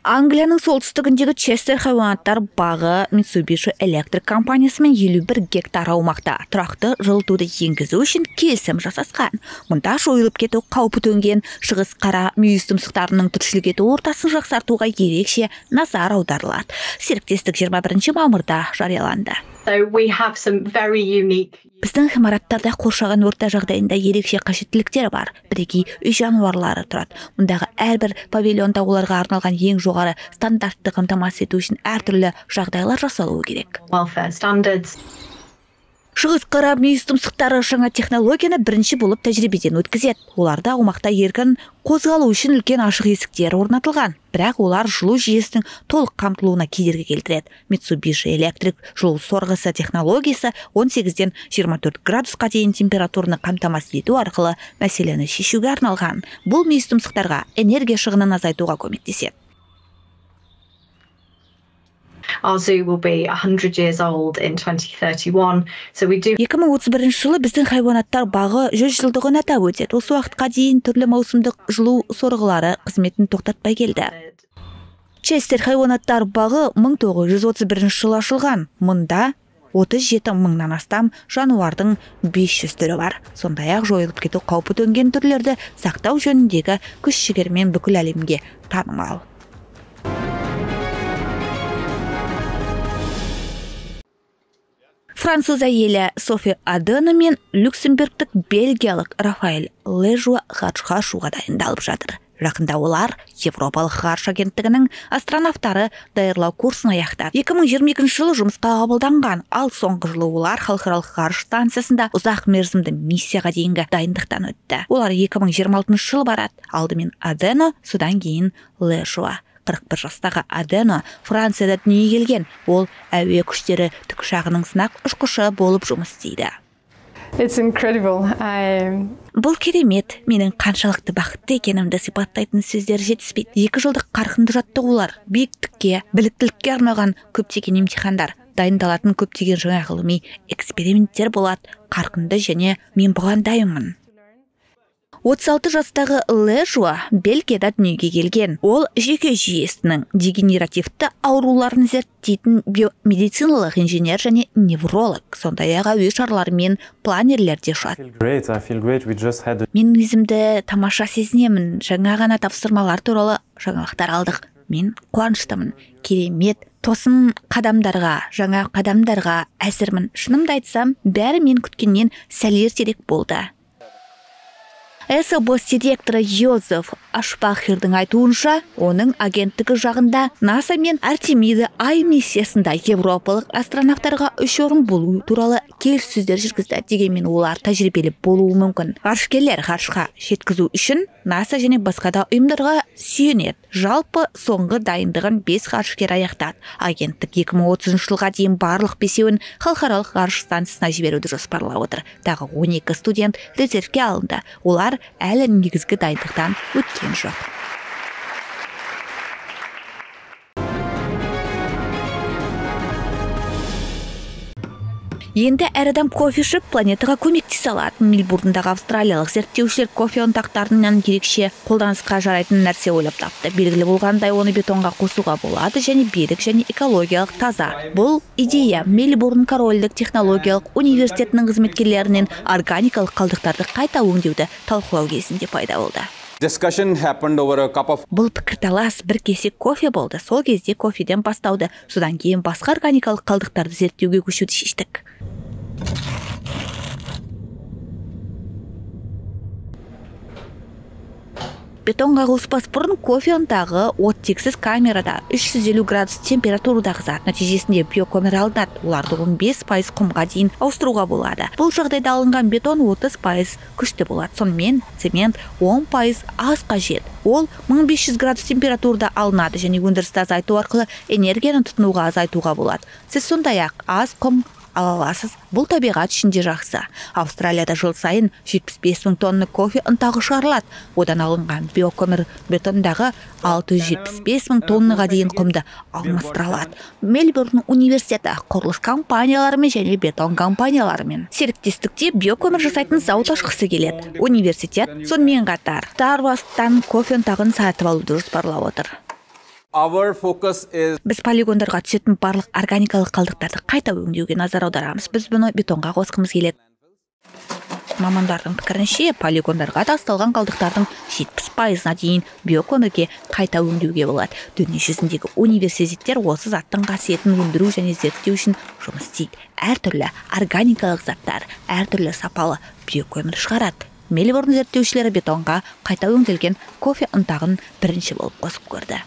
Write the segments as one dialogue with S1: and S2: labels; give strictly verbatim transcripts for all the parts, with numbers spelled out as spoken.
S1: Англияның солтүстігіндегі Честер хайуанаттар бағы Mitsubishi Electric компаниясымен елу бір гектар аумақта тұрақты жылытуды енгізу үшін келісім жасасқан. Мұнда жойылып кету қаупі төнген шығыс қара мүйіз тұмсықтарының тіршілік ету ортасын жақсартуға ерекше назар аударылады. Серіктестік жиырма бірінші мамырда жарияланды. Біздің ғимараттарда қоршаған орта жағдайында ерекше қажеттіліктер бар. Бірегей үй жануарлары тұрады. Мұндағы әрбір павильонда оларға арналған ең жоғары стандартты қамтамасыз ету үшін әртүрлі жағдайлар жасалуы керек. Шығыс қара мүйіз тұмсықтары жаңа технологияны бірінші болып тәжірибеден өткізеді. Оларда аумақта еркін қозғалу үшін үлкен ашық есіктер орнатылған. Бірақ олар жылу жүйесінің толық қамтылуына кедергі келтіреді. Mitsubishi Electric жылу сорғысы технологиясы он сегізден жиырма төрт градусқа дейін температураны қамтамасыз ету арқылы мәселені шешуге арналған. Бұл мүйіз тұмсықтарға энергия шығынын азайтуға көмектеседі.
S2: Our zoo will be one hundred years old in twenty thirty-one. So we do
S1: екі мың отыз бірінші жылы біздің хайуанаттар бағы жүз жылдығын атап өтеді. Осы уақытқа дейін түрлі маусымдық жылу сорғылары қызметін тоқтатпай келді. Честер хайуанаттар бағы мың тоғыз жүз отыз бірінші жылы ашылған. Мұнда отыз жеті мыңнан астам жануардың бес жүз түрі бар. Сондай-ақ жойылып кету қаупі төнген түрлерді сақтау жөніндегі күш-жігермен бүкіл әлемге танымал. Француз әйелі Софи Адена мен люксембургтік бельгиялық Рафаэль Лежуа ғарышқа ұшуға дайындалып жатыр. Жақында олар Европалық ғарыш агенттігінің астронавтары даярлау курсын аяқтады. екі мың жиырма екінші жылы жұмысқа қабылданған, ал соңғы жылы олар халықаралық ғарыш станциясында ұзақ мерзімді миссияға дейінгі дайындықтан өтті. Олар екі мың жиырма алтыншы жылы барады. Алдымен Адена, содан кейін Лежуа. қырық бір жастағы Адена Францияда дүниеге келген. Ол әуе күштері тікұшағының сынақ ұшқышы болып жұмыс істейді.
S3: It's incredible. I...
S1: Бұл керемет. Менің қаншалықты бақытты екенімді сипаттайтын сөздер жетіспейді. Екі жылдық қарқынды жаттығулар, биіктікке, біліктілікке арналған көптеген емтихандар, дайындалатын көптеген жаңа ғылыми эксперименттер болады. Қарқынды және мен бұған дайынмын. отыз алты жастағы Лежуа Бельгияда дүниеге келген. Ол жүйке жүйесінің дегенеративті ауруларын зерттейтін биомедициналық инженер және невролог. Сондай-ақ әуе шарлары мен планерлерде ұшады. Мен өзімді тамаша сезінемін. Жаңа ғана тапсырмалар туралы жаңалықтар алдық. Мен қуаныштымын. Керемет. Тосын қадамдарға, жаңа қадамдарға әзірмін. Шынымды айтсам, бәрі мен күткеннен сәл ертерек болды. эс бэ эс директоры Йозеф Ашпахердің айтуынша, оның агенттігі жағында НАСА мен Артемида ай миссиясында европалық астронавтарға үш орын болу туралы келіссөздер жүргізді. Дегенмен олар тәжірибелі болуы мүмкін. Ғарышкерлер ғарышқа жеткізу үшін НАСА және басқа да ұйымдарға сүйенеді. Жалпы соңғы дайындығын бес ғарышкер аяқтады. Агенттік екі мың отызыншы жылға дейін барлық бесеуін халықаралық ғарыш станциясына жіберуді жоспарлап отыр. Тағы он екі студент резервке алынды. Олар әлі негізгі дайындықтан өткен жоқ. Енді әр адам кофе ішіп планетаға көмектесе алады. Мельбурндағы австралиялық зерттеушілер кофе ұнтақтарынан ерекше қолданысқа жарайтын нәрсе ойлап тапты. Белгілі болғандай, оны бетонға қосуға болады және берік және экологиялық таза. Бұл идея Мельбурн корольдік технологиялық университетінің қызметкерлерінен органикалық қалдықтарды қайта өңдеуді талқылау кезінде пайда болды. Бұл пікірталас бір кесек кофе болды. Сол кезде кофеден бастауды, содан кейін басқа органикалық қалдықтарды зерттеуге көшуді шештік. Бетонға қоспас бұрын кофе ұнтағы оттексіз камерада үш жүз елу градус температурада қызады. Нәтижесінде биокөмір алынады. Оларды он бес пайыз құмға дейін ауыстыруға болады. Бұл жағдайда алынған бетон отыз пайыз күшті болады. Сонымен цемент он пайыз аз қажет. Ол мың бес жүз градус температурада алынады және өндірісті азайту арқылы энергияны тұтынуға азайтуға болады. Сіз сондай-ақ аз құм ала аласыз. Бұл табиғат үшінде жақсы. Австралияда жыл сайын жетпіс бес мың тонна кофе ұнтағы шығарылады. Одан алынған биокөмір бетондағы алты жүз жетпіс бес мың тоннаға дейін құмды алмастыра алады. Мельбурн университеті құрылыс компанияларымен және бетон компанияларымен серіктестікте биокөмір жасайтын зауыт ашқысы келеді. Университет сонымен қатар Старбастан кофе ұнтағын сатып алуды жоспарлап отыр.
S4: Our focus is
S1: Біз полигондарға түсетін барлық органикалық қалдықтарды қайта өңдеуге назар аударамыз. Біз бұны бетонға қосқымыз келеді. Мамандардың пікірінше, полигондарға тасталған қалдықтардың жетпіс пайызына дейін биокөмірге қайта өңдеуге болады. Дүние жүзіндегі университеттер осы заттың қасиетін өндіру және зерттеу үшін жұмыс істейді. Әртүрлі органикалық заттар, әртүрлі сапалы биокөмір шығарады. Мельбурн зерттеушілері бетонға қайта өңделген кофе ұнтағын бірінші болып қосып көрді.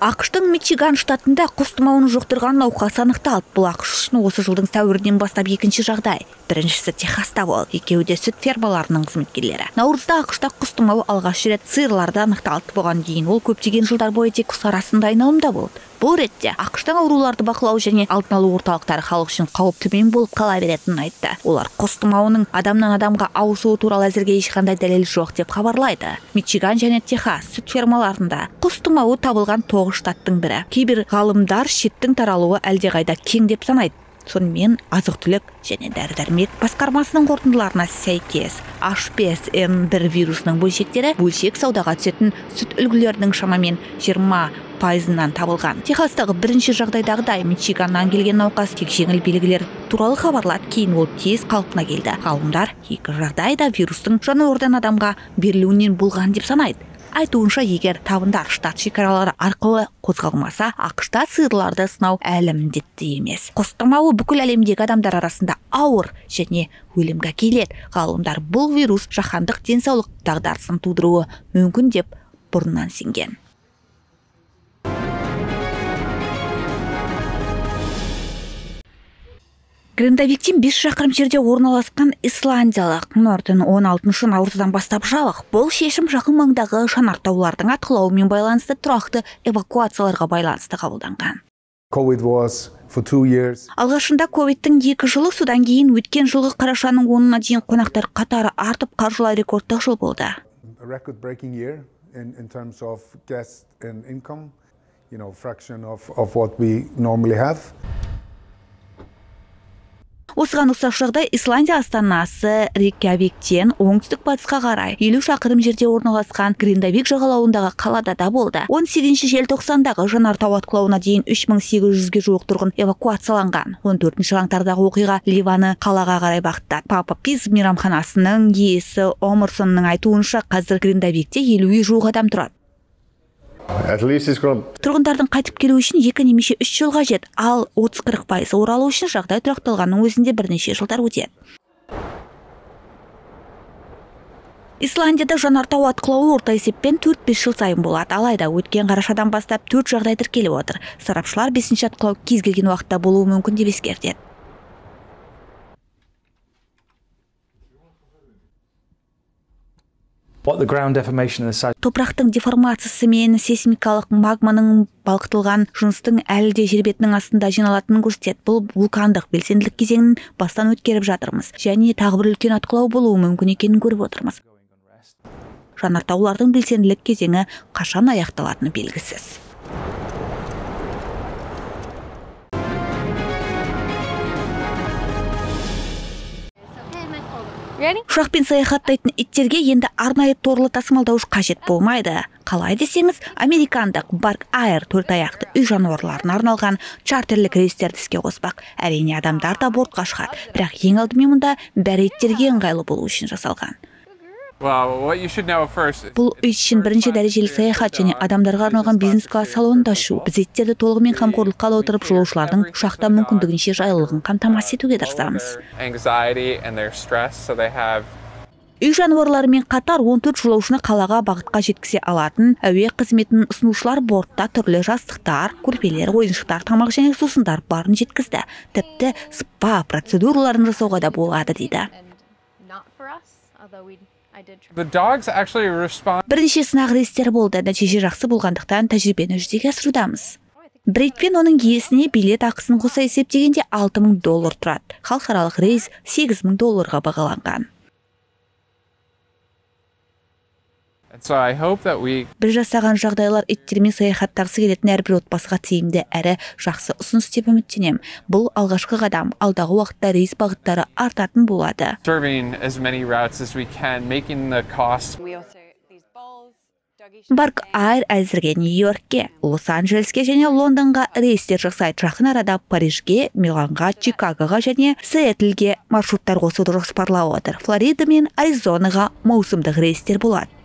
S1: ақш-тың Мичиган штатында құс тұмауын жұқтырған науқас анықталды. Бұл ақш үшін осы жылдың сәуірінен бастап екінші жағдай. Біріншісі Техаста болды. Екеуі де сүт фермаларының қызметкерлері. Наурызда ақш-та құс тұмауы алғаш рет сиырларда анықталды. Бұған дейін ол көптеген жылдар бойы тек құс арасында айналымда болды. Бұл ретте ақш-тың ауруларды бақылау және алдын алу орталықтары халық үшін қауіп төмен болып қала беретінін айтты. Олар құс тұмауының адамнан адамға ауысуы туралы әзірге ешқандай дәлел жоқ деп хабарлайды. Мичиган және Техас сүт фермаларында құс тұмауы табылған тоғыз штаттың бірі. Кейбір ғалымдар шеттің таралуы әлдеқайда кең деп санайды. Сонымен азық-түлік және дәрі-дәрмек басқармасының қорытындыларына сәйкес H бес N бір вирусының бөлшектері бөлшек саудаға түсетін сүт үлгілерінің шамамен жиырма пайызынан табылған. Техастағы бірінші жағдайдағыдай Мичиганнан келген науқас тек жеңіл белгілер туралы хабарлады, кейін ол тез қалпына келді. Ғалымдар екі жағдайда вирустың жануардан адамға берілуінен болған деп санайды. Айтуынша, егер табындар штат шекаралары арқылы қозғалмаса, ақш-та сиырларды сынау әлі міндетті емес. Құс тұмауы бүкіл әлемдегі адамдар арасында ауыр және өлімге әкеледі. Ғалымдар бұл вирус жаһандық денсаулық дағдарысын тудыруы мүмкін деп бұрыннан сенген. Грендавиктен бес шақырым жерде орналасқан исландиялық Нортон он алтыншы наурыздан бастап жабық. Бұл шешім жақын маңдағы жанартаулардың атқылауымен байланысты тұрақты эвакуацияларға байланысты қабылданған.
S5: COVID was for two years.
S1: Алғашында ковидтің екі жылы, содан кейін өткен жылғы қарашаның онына дейін қонақтар қатары артып, қаржылай рекордтық жыл болды.
S5: A record-breaking year in in terms of guests and income, you know, fraction of of what we normally have.
S1: Осыған ұқсас жағдай Исландия астанасы Рейкьявиктен оңтүстік батысқа қарай елу шақырым жерде орналасқан Грендавик жағалауындағы қалада да болды. он сегізінші желтоқсандағы жанартау атқылауына дейін үш мың сегіз жүзге жуық тұрғын эвакуацияланған. он төртінші қаңтардағы оқиға Ливаны қалаға қарай бағыттады. Папа Пиз мейрамханасының иесі Омерсонның айтуынша, қазір Грендавикте елуге жуық адам тұрады. Тұрғындардың қайтып келу үшін екі немесе үш жыл қажет, ал отыз қырық пайыз оралу үшін жағдай тұрақталғанның өзінде бірнеше жылдар өтеді. Исландияда жанартау атқылауы орта есеппен төрт бес жыл сайын болады. Алайда өткен қарашадан бастап төрт жағдай тіркеліп отыр. Сарапшылар бесінші атқылау кез келген уақытта болуы мүмкін деп ескертеді. Топырақтың деформациясы мен сейсмикалық магманың балқытылған жыныстың әлі де жер бетінің астында жиналатынын көрсетеді. Бұл вулкандық белсенділік кезеңін бастан өткеріп жатырмыз, және тағы бір үлкен атқылау болуы мүмкін екенін көріп отырмыз. Жанартаулардың белсенділік кезеңі қашан аяқталатыны белгісіз. Ұшақпен саяхаттайтын иттерге енді арнайы торлы тасымалдауыш қажет болмайды. Қалай десеңіз, американдық Bark Air төрт аяқты үй жануарларына арналған чартерлік рейстерді іске қоспақ. Әрине, адамдар да бортқа шығады, бірақ ең алдымен мұнда бәрі иттерге ыңғайлы болу үшін жасалған. Бұл үй үшін бірінші дәрежелі саяхат және адамдарға арналған бизнес-класс салонында ұшу. Біз иттерді толығымен қамқорлыққа ала отырып, жолаушылардың ұшақта мүмкіндігінше жайлылығын қамтамасыз етуге тырысамыз. Үй жануарларымен қатар он төрт жолаушыны қалаға бағытқа жеткізе алатын әуе қызметінің ұсынушылар бортта түрлі жастықтар, көрпелер, ойыншықтар, тамақ және сусындар барын жеткізді. Тіпті спа процедураларын жасауға да болады дейді. Бірнеше сынақ рейстер болды, нәтиже жақсы болғандықтан тәжірибені жүзеге асырудамыз. Брейд пен оның иесіне билет ақысын қоса есептегенде алты мың доллар тұрады. Халықаралық рейс сегіз мың долларға бағаланған.
S4: So I hope that we
S1: Біз жасаған жағдайлар иттермен саяхаттағысы келетін әрбір отбасыға тиімді әрі жақсы ұсыныс деп үміттенем. Бұл алғашқы қадам, алдағы уақытта рейс бағыттары артатын болады.
S4: serving as many routes as we can, making the cost.
S1: Барк Айр әзірге Нью-Йоркке, Лос-Анджелеске және Лондонға рейстер жасайды. Жақын арада Парижге, Миланға, Чикагоға және Сиэтлге маршруттар қосуды жоспарлап отыр. Флорида мен Аризонаға маусымдық рейстер болады.